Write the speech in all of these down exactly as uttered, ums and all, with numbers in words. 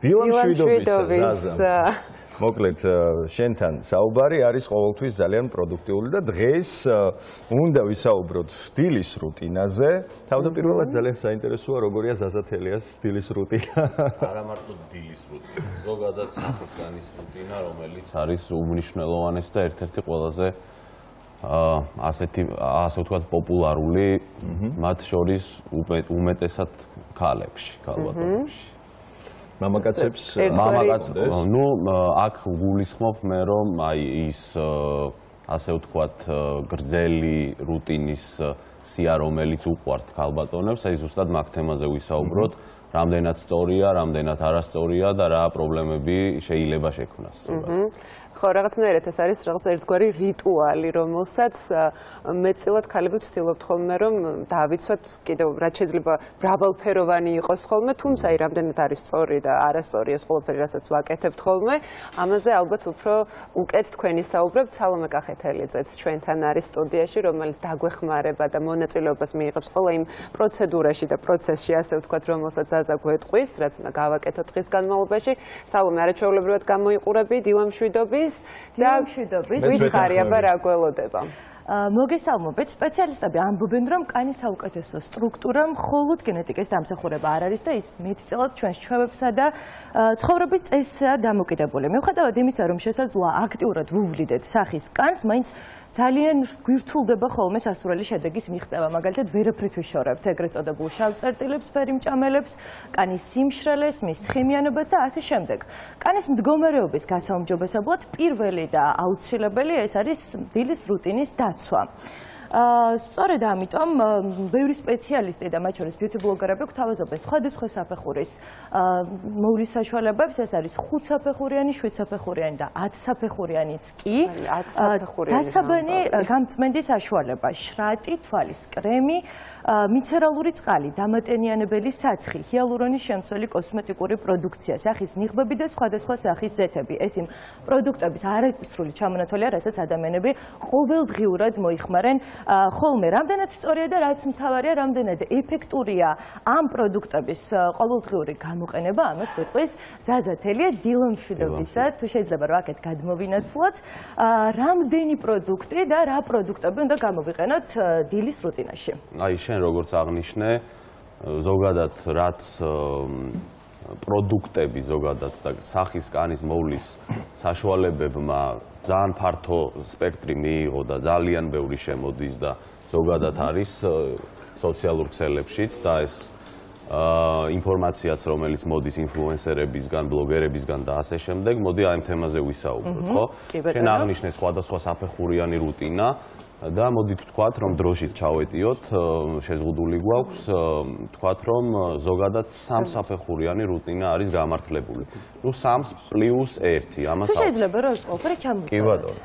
დილამ შვიდობის მოკლედ შენთან საუბარი არის ყოველთვის ძალიან პროდუქტიული და დღეს უნდა ვისაუბროთ დილის რუტინაზე. თავდაპირველად ძალიან საინტერესოა როგორია ზაზათელიას დილის რუტინა. არა მარტო დილის რუტინა, ზოგადად სახისგანის რუტინა, რომელიც არის უმნიშვნელოვანესი და ერთ-ერთი ყველაზე ასეთი ასე ვთქვათ პოპულარული მათ შორის უმეტესად ქალებში, ქალბატონებში. მამაკაცებს მამაკაცებს ნუ აქ გულისხმობ მე რომ აი ის ასე ვთქვათ გრძელი რუტინის სია რომელიც უყვართ ქალბატონებს აი ზუსტად მაგ თემაზე ვისაუბროთ რამდენად სწორია რამდენად არასწორია და რა პრობლემები შეიძლება შექმნას ხო რაღაცნაირად ეს არის რაღაც ერთგვარი რიტუალი რომელსაც მეტწილად ქალები ვცდილობთ ხოლმე რომ დავიცვათ კიდევ რაც შეიძლება მრავალფეროვანი იყოს ხოლმე თუმცა აი რამდენად არის სწორი და არასწორი ეს ყველაფერი რასაც ვაკეთებთ ხოლმე ამაზე ალბათ უფრო უკეთ თქვენი საუბრობთ სალომე კახეთელიძეც ჩვენთან არის სტუდიაში რომელიც დაგვეხმარება და მონაწილეობას მიიღებს ყველა იმ პროცედურაში და პროცესში ასე ვთქვათ რომელსაც ზაზა გვეტყვის რაც უნდა გავაკეთოთ დღის განმავლობაში სალომე არაჩვეულებრივად გამოიყურები დილამშვიდობის დილამშვიდობის ვითხარი აბა რა გველოდება მოგესალმებით სპეციალისტები ამბობენ რომ კანის საუკეთესო სტრუქტურა მხოლოდ გენეტიკის დამსახურება არ არის და ის მეტწილად ჩვენს ჩვევებსა და ცხოვრების წესსა დამოკიდებული. მიუხედავად იმისა რომ შესაძლოა აქტიურად ვუვლიდეთ სახის კანს, მაინც ძალიან გვირთულდება ხოლმე სასურველი შედეგის მიღწევა, მაგალითად ვერაფრით ვიშორებთ ეგრეთ წოდებულ შავ წერტილებს, ფერიმჭამელებს, კანის სიმშრალეს, მის ცხიმიანობას და ასე შემდეგ. კანის მდგომარეობის გასაუმჯობესებლად პირველი და აუცილებელი ეს არის დილის რუტინის დაცვა. სწორედ ამიტომ ბევრი სპეციალისტი და მათ შორის ბიუთი ბლოგერები გვთავაზობენ სხვადასხვა საფეხურის მოვლის საშუალებებს ეს არის ხუთსაფეხურიანი, შვიდსაფეხურიანი და ათსაფეხურიანიც კი დასაბანი გამწმენდის საშუალება შრატი, თვალის კრემი, მიცერალური წყალი, დამატენიანებელი საცხი, ჰიალურონის შემცველი კოსმეტიკური პროდუქცია, სახის ნიღბები და სხვადასხვა სახის ზეთები. ეს იმ პროდუქტების არასრული ჩამონათვალია, რასაც ადამიანები ყოველდღიურად მოიხმარენ ხოლმე რამდენად სწორია და რაც მთავარია რამდენად ეფექტურია ამ პროდუქტების ყოველდღიური გამოყენება ამას გვეტყვის ზაზათელია დილამშვიდობისა თუ შეიძლება რომ აქეთ გადმოვინაცვლოთ რამდენი პროდუქტი და რა პროდუქტები უნდა გამოვიყენოთ დილის რუტინაში აი შენ როგორც აღნიშნე ზოგადად რაც პროდუქტები ზოგადად და სახის კანის მოვლის საშუალებებმა ძალიან ფართო სპექტრი მიიღო და ძალიან ბევრი შემოდის და ზოგადად არის სოციალურ ქსელებშიც და ეს ინფორმაციაც რომელიც მოდის ინფლუენსერებისგან, ბლოგერებისგან და ასე შემდეგ, მოდი აი ამ თემაზე ვისაუბროთ, ხო? შენ აღნიშნე სხვადასხვა საფეხურიანი რუტინა და მოდით ვთქვათ, რომ დროშით ჩავეტიოთ, შეზღუდული გვაქვს, ვთქვათ, რომ ზოგადად სამსაფეხურიანი რუტინა არის გამართლებული. ნუ სამს პლუს ერთი. ამას შეიძლება რომ ეს ყველაფერი ჩამოვიწყოთ. კი ბატონო.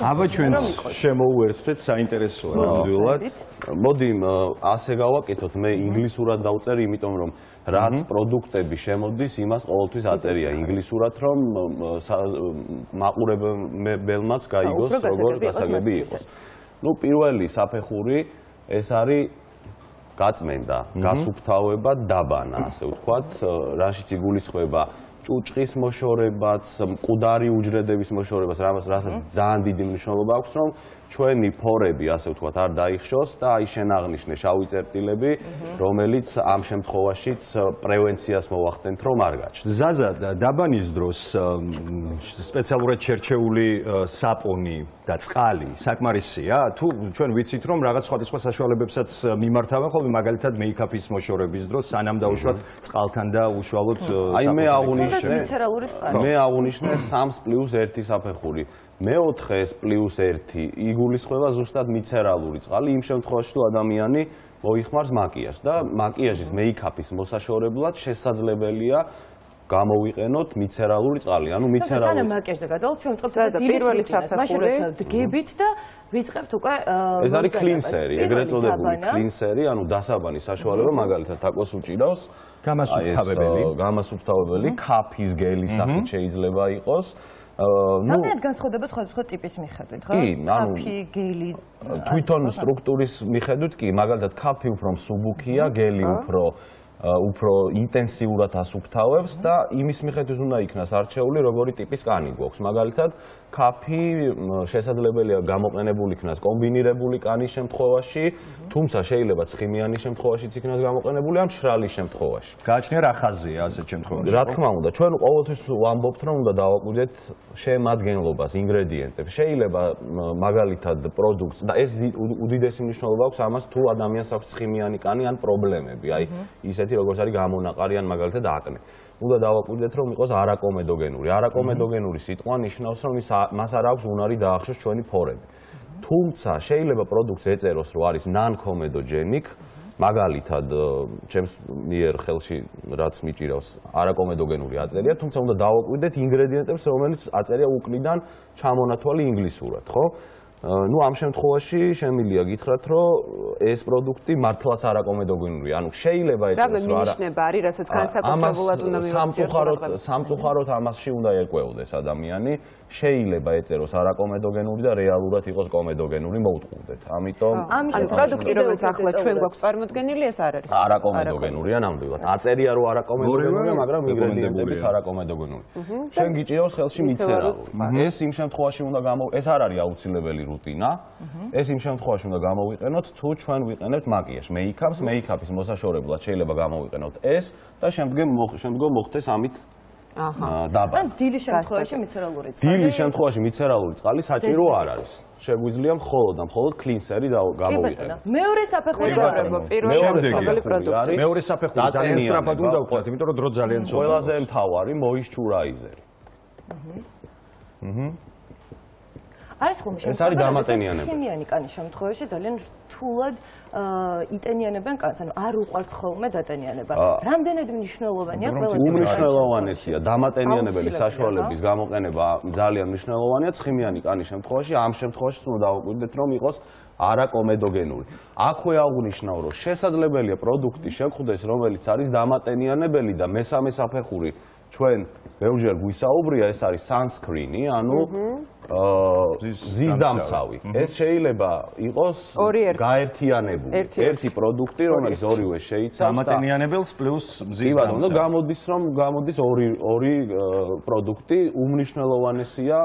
აბა ჩვენ შემოუერთდეთ საინტერესოა ნამდვილად. მოდი ასე გავაკეთოთ, მე ინგლისურად დავწერი, იმიტომ რომ რაც პროდუქტები შემოდის, იმას ყოველთვის აწერია ინგლისურად, რომ მაყურებელმაც გაიგოს, როგორ გასაგები იყოს. ნუ პირველი საფეხური ეს არის გაწმენდა, გასუფთავება, დაბანა, ასე ვთქვათ, რაშიც იგულისხმება ჭუჭყის მოშორებაც, მკვდარი უჯრედების მოშორებას, რასაც ძალიან დიდი მნიშვნელობა აქვს, რომ ჩვენი ფორები, ასე ვთქვათ, არ დაიხშოს და აი შენ აღნიშნე შავი წერტილები, რომელიც ამ შემთხვევაშიც პრევენციას მოვახდენთ, რომ არ გაჩნდეს. ზაზა, დაბანის დროს სპეციალურად შერჩეული საპონი და წყალი საკმარისია? თუ ჩვენ ვიცით, რომ რაღაც სხვადასხვა საშუალებებსაც მიმართავენ ხოლმე, მაგალითად მეიქაპის მოშორების დროს, სანამ დაუშვათ წყალთან და უშუალოდ აი მე აღნიშნე მე აღნიშნე სამს პლუს ერთი საფეხური. მეოთხე ეს პლუს ერთი იგულისხმება ზუსტად მიცერალური წყალი იმ შემთხვევაში თუ ადამიანი მოიხმარს მაკიაჟს და მაკიაჟის მეიქაპის მოსაშორებლად შესაძლებელია გამოვიყენოთ მიცერალური წყალი. ანუ მიცერალური სანამ მაკიაჟზე გადავალთ ჩვენ ვწყებთ პირველი საფეხური დგებით და ვიწყებთ უკვე ეს არის კლინსერი, ეგრეთ წოდებული კლინსერი, ანუ დასაბანის საშუალება მაგალითად თაკოს უჭირავს გამასუფთავებელი, გამასუფთავებელი, ქაფის გელის სახით შეიძლება იყოს. რამდენად განსხვავდება სხვადასხვა ტიპის მიხედვით, ხო? ქაფი, გელი, თვითონ სტრუქტურის მიხედვით კი, მაგალითად ქაფი უფრო მსუბუქია, გელი უფრო უფრო ინტენსიურად ასუფთავებს და იმის მიხედვით უნდა იქნას არჩეული, როგორი ტიპის კანი გვაქვს. მაგალითად, ქაფი შესაძლებელია გამოყენებული იქნას კომბინირებული კანის შემთხვევაში, თუმცა შეიძლება ცხიმიანი შემთხვევაშიც იქნას გამოყენებული ამ მშრალი შემთხვევაში. გააჩნია რა ხაზია ასეთ შემთხვევაში? რა თქმა უნდა, ჩვენ ყოველთვის ვამბობთ, რომ უნდა დავაკვირდეთ შემადგენლობას, ინგრედიენტებს. შეიძლება მაგალითად პროდუქტს და ეს უდიდესი მნიშვნელობა აქვს ამას, თუ ადამიანს აქვს ცხიმიანი კანი ან პრობლემები, აი ისეთი როგორც არის გამონაყარი ან მაგალითად აკნე. უნდა დავაკვირდეთ, რომ იყოს არაკომედოგენური. არაკომედოგენური სიტყვა ნიშნავს, რომ ის მას არ აქვს უნარი დაახშოს ჩვენი ფორები. თუმცა შეიძლება პროდუქტს ეწეროს, რომ არის non-comedogenic, მაგალითად, ჩემს მიერ ხელში რაც მიჭირავს, არაკომედოგენური აწერია, თუმცა უნდა დავაკვირდეთ ინგრედიენტებს, რომელიც აწერია უკნიდან ჩამონათვალი ინგლისურად, ხო? ну ამ შემთხვევაში შემიძლია გითხრათ, რომ ეს პროდუქტი მართლაც არაკომედოგენურია. ანუ შეიძლება ეწოს, რა მინიშნება არის, რასაც განსაკუთრებულად უნდა მივაქციოთ. სამწუხაროდ ამასში უნდა ერკვეოდეს ადამიანი. შეიძლება ეწეროს არაკომედოგენური და რეალურად იყოს კომედოგენური, მოუწყუდეთ. ამიტომ ამის პროდუქტი, რომელიც ახლა ჩვენ გვაქვს წარმოდგენილი, ეს არ არის არაკომედოგენურია ნამდვილად. აწერია, რომ არაკომედოგენურია, მაგრამ ინგრედიენტებიც არაკომედოგენური. შენ გიჭირავს ხელში მიცერალური. ეს იმ შემთხვევაში უნდა გამო ეს არ არის აუცილებელი რუტინა. ეს იმ შემთხვევაში უნდა გამოვიყენოთ, თუ ჩვენ ვიყენებთ მაკიაჟს, მეიქაპს, მეიქაპის მოსაშორებლად შეიძლება გამოვიყენოთ ეს და შემდგომ შემდგომ მოხდეს ამით აჰა. დაბა. ან დილის შემთხვევაში მიცერალური წყალი. დილის შემთხვევაში მიცერალური წყალი საჭირო არ არის. შეგვიძლია მხოლოდ და მხოლოდ კლინსერი და გამოვიყენოთ. მეორე საფეხური პირველი პროდუქტი. მეორე საფეხური ძალიან სწრაფად უნდა ვყვათ, იმიტომ რომ დრო ძალიან ცოტა. ყველაზე მთავარი მოისჩურაიზერი. აჰა. არის ხომ ეს არის დამატენიანება. ქიმიანი კანის შემთხვევაში ძალიან რთულად იტენიანებენ კანს, ანუ არ უყვართ ხოლმე დატენიანება. რამდენად მნიშვნელოვანია ყველა უმნიშვნელოვანესია დამატენიანებელი საშუალების გამოყენება ძალიან მნიშვნელოვანია ცხიმიანი კანის შემთხვევაში, ამ შემთხვევაში უნდა დავაკვირდეთ, რომ იყოს არაკომედოგენური. აქვე აღნიშნავ, რომ შესაძლებელია პროდუქტი შეგხვდეს, რომელიც არის დამატენიანებელი და მესამე საფეხური ჩვენ ბევრჯერ გვისაუბრია, ეს არის sunscreen-ი, ანუ ზისდამცავი. ეს შეიძლება იყოს გაერთიანებული ერთი პროდუქტი, რომელიც ორივე შეიცავს დამატენიანებელს პლუს ზისდამცავი. კი, გამოდის, რომ გამოდის ორი ორი პროდუქტი, უმნიშვნელოვანესია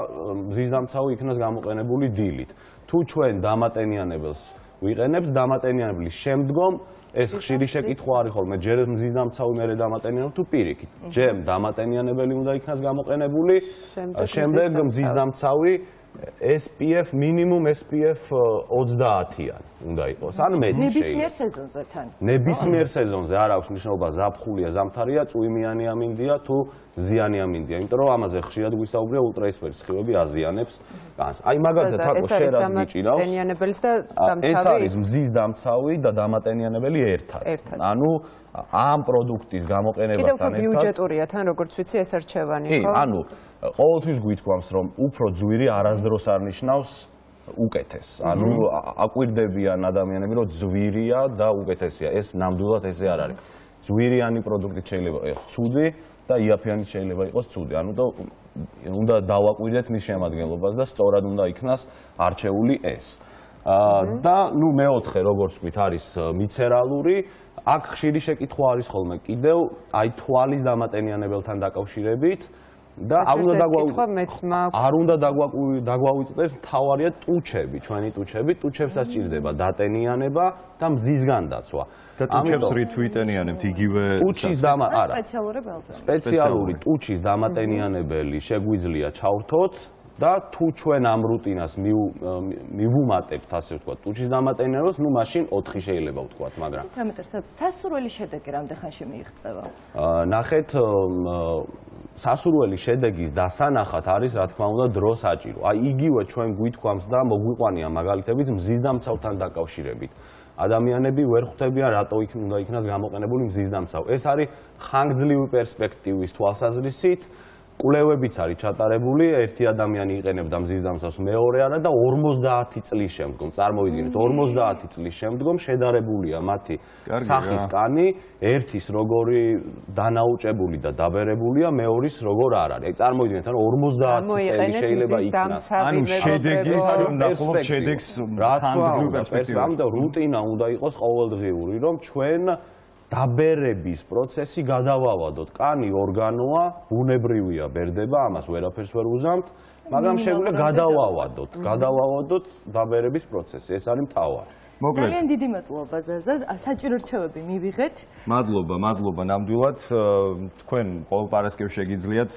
ზისდამცავი იქნას გამოყენებული დილით. თუ ჩვენ დამატენიანებელს ვიყენებთ, დამატენიანებლის შემდგომ ეს ხშირი შეკითხვა არის ხოლმე, ჯერ მზისდამცავი, მერე დამატენიანებელი თუ პირიქით. ჯერ დამატენიანებელი უნდა იქნას გამოყენებული, შემდეგ მზისდამცავი S P F მინიმუმ S P F ოცდაათიან უნდა იყოს. ან მეტი შეიძლება. ნებისმიერ სეზონზე თან. ნებისმიერ სეზონზე არ აქვს მნიშვნელობა ზაფხულია, ზამთარია, წვიმიანი ამინდია თუ ზიანი ამინდია, იმიტომ რომ ამაზე ხშირად გვისაუბრია ულტრაისფერი სხივები აზიანებს განს. აი მაგალითად თაკო შერას გიჭირავს. დამატენიანებელს და დამცავი. ეს არის მზის დამცავი და დამატენიანებელი ერთად. ანუ ამ პროდუქტის გამოყენებასთან ერთად ბიუჯეტურია თან, როგორც ვიცი, ეს არჩევანი, ხო? კი, ანუ ყოველთვის გვითქვამს, რომ უფრო ძვირი არასდროს არ ნიშნავს უკეთეს. ანუ აკვირდებიან ადამიანები, რომ ძვირია და უკეთესია. ეს ნამდვილად ესე არ არის. ძვირიანი პროდუქტი შეიძლება იყოს ცუდი და იაფიანი შეიძლება იყოს ცუდი. ანუ და უნდა დავაკვირდეთ მის შემადგენლობას და სწორად უნდა იქნას არჩეული ეს. და ნუ მეოთხე, როგორც ვთქვით, არის მიცერალური. აქ ხშირი შეკითხვა არის ხოლმე კიდევ აი თვალის დამატენიანებელთან დაკავშირებით. და არ უნდა არ უნდა დაგვავიწყდეს, თავარია ტუჩები, ჩვენი ტუჩები, ტუჩებსაც ჭირდება დატენიანება და მზისგან დაცვა. და ტუჩებს რით ვიტენიანებთ იგივე ტუჩის დამა არა. სპეციალური ბელზე. სპეციალური ტუჩის დამატენიანებელი შეგვიძლია ჩავთოთ და თუ ჩვენ ამ რუტინას მივუმატებთ, ასე ვთქვათ, ტუჩის დამატენიანებას, ნუ მაშინ ოთხი შეიძლება ვთქვათ, მაგრამ სასურველი შედეგი რამდენ ხანში მიიღწევა? ნახეთ, სასურველი შედეგის დასანახად არის, რა თქმა უნდა, დრო საჭირო. აი იგივე ჩვენ გვითქვამს და მოგვიყვანია მაგალითებიც მზისდამცავთან დაკავშირებით. ადამიანები ვერ ხვდებიან, რატო იქ უნდა იქნას გამოყენებული მზისდამცავი. ეს არის ხანგრძლივი პერსპექტივის თვალსაზრისით. კვლევებიც არის ჩატარებული, ერთი ადამიანი იყენებდა მზისდამცავს, მეორე არა და ორმოცდაათი წლის შემდგომ, წარმოვიდგინეთ, ორმოცდაათი წლის შემდგომ შედარებულია მათი სახის კანი, ერთის როგორი დანაუჭებული და დაბერებულია, მეორის როგორ არ არის. აი წარმოვიდგინეთ, ანუ ორმოცდაათი წელი შეიძლება იქნას. ანუ შედეგი ჩვენ ნახულობ შედეგს ხანგრძლივი პერსპექტივით. ამიტომ რუტინა უნდა იყოს ყოველდღიური, რომ ჩვენ დაბერების პროცესი გადავავადოთ. კანი ორგანოა, ბუნებრივია, ბერდება, ამას ვერაფერს ვერ უზამთ, მაგრამ შეგვიძლია გადავავადოთ, გადავავადოთ დაბერების პროცესი. ეს არის მთავარი. მოკლედ. ძალიან დიდი მადლობა ზაზა, საჭირო რჩევები მივიღეთ. მადლობა, მადლობა ნამდვილად. თქვენ ყოველ პარასკევს შეგიძლიათ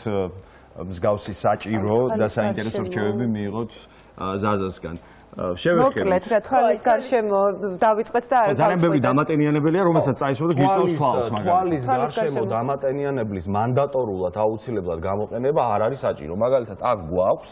მსგავსი საჭირო და საინტერესო რჩევები მიიღოთ ზაზასგან. მოკლედ რა თვალის გარშემო დავიწყეთ და არ ძალიან ბევრი დამატენიანებელია, რომელსაც წაისვა და გიწევს თვალს მაგალითად. თვალის გარშემო დამატენიანებლის მანდატორულად აუცილებლად გამოყენება არ არის საჭირო. მაგალითად, აქ გვაქვს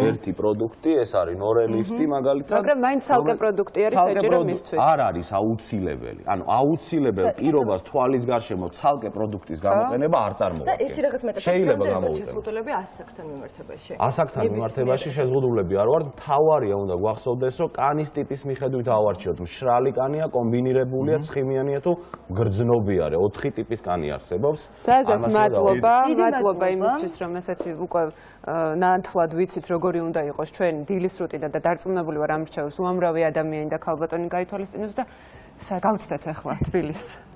ერთი პროდუქტი, ეს არის ნორელიფტი მაგალითად. მაგრამ მაინც ცალკე პროდუქტი არის საჭირო მისთვის. არ არის აუცილებელი. ანუ აუცილებელ პირობას თვალის გარშემო ცალკე პროდუქტის გამოყენება არ წარმოადგენს. და ერთი რაღაც მეტად შეიძლება გამოიყენოს. შეზღუდულები ასაკთან მიმართებაში. ასაკთან მიმართებაში შეზღუდულები არ ვარ, თავარია უნდა გვახსოვდეს, რომ კანის ტიპის მიხედვით ავარჩიოთ. მშრალი კანია, კომბინირებულია, ცხიმიანია თუ გრძნობიარე. ოთხი ტიპის კანი არსებობს. ზაზას მადლობა, მადლობა იმისთვის, რომ ესეთი უკვე ნათლად ვიცით, როგორი უნდა იყოს ჩვენ დილის რუტინა და დარწმუნებული ვარ ამ რჩევებს უამრავი ადამიანი და ქალბატონი გაითვალისწინებს და გავცდეთ ახლა თბილისს.